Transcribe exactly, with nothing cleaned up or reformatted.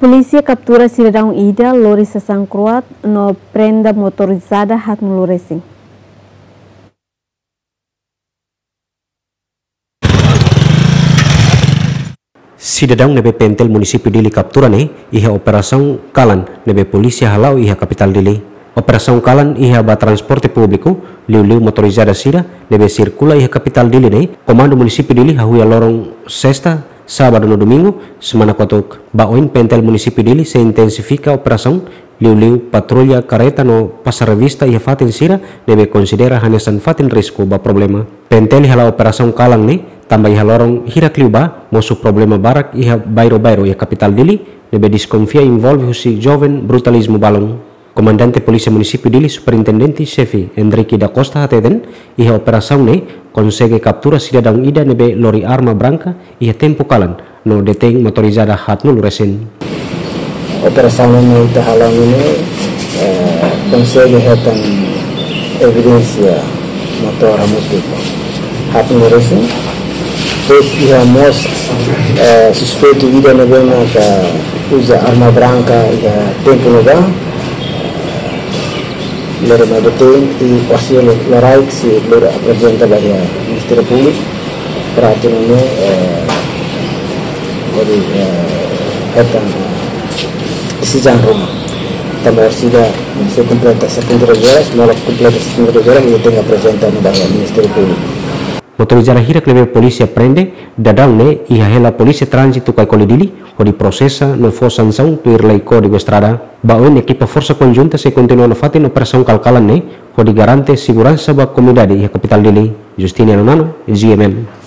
Polísia kaptura sidadaun ida lori sasán kro'at no prende motorizada haatnulu resin. Sidadaun ne'ebé PNTL Munisípiu Dili kaptura ne'e iha operasaun kalan ne'ebé polísia hala'o iha kapitál Dili. Operasaun kalan iha ba transporte públiku, liuliu motorizada sira ne'ebé sirkula iha kapitál Dili ne'e, Komandu Munisípiu Dili hahú iha loron sesta, sábadu no domingu semana kotuk. Ba oin PNTL Munisípiu Dili sei intensifika operasaun, liuliu patrulla kareta no pasa revista iha fatin sira ne'ebé konsidera hanesan fatin risku ba problema. PNTL hala'o operasaun kalan ne'e tanba iha loron hirak liubá mosu problema barak iha bairru-bairru iha kapitál Dili ne'ebé deskonfia envolve husi joven brutalizmu balun. Komandante Polísia Munisípiu Dili, Superintendente Xefe Endrique da Costa hateten, iha operasaun ne'e konsege kaptura sidadaun ida ne'ebé lori arma branka iha tempu kalan no detein motorizada haatnulu resin. Operasaun ne'e ita hala'o ne'e, eh, konsege hetan evidénsia motór hamutuk haatnulu resin. Depois iha mós, eh, suspeitu ida ne'ebé maka uza arma branka iha tempu ne'ebá. Lori mai detein i orsida lorokraik sei lori aprezenta ba iha Ministériu Públiku para atu nune'e, eh, hodi, eh, hetan, eh, desizaun ruma. Tanba orsida sei kompleta setenta e duas horas, no la kompleta setenta e duas horas, nia tenke aprezenta ba iha Ministériu Públiku. Motorizada hirak ne'ebé polísia prende daudaun ne'e iha hela Polísia Tránzitu Caicoli Dili, hodi prosesa no fó sansaun tuir lei Kódigu Estrada. Ba oin ekipa Forsa Konjunta sei kontinua nafatin operasaun kalan-kalan ne'e, hodi garante seguransa ba komunidade iha kapitál Dili. Justiniano Nano, GMN.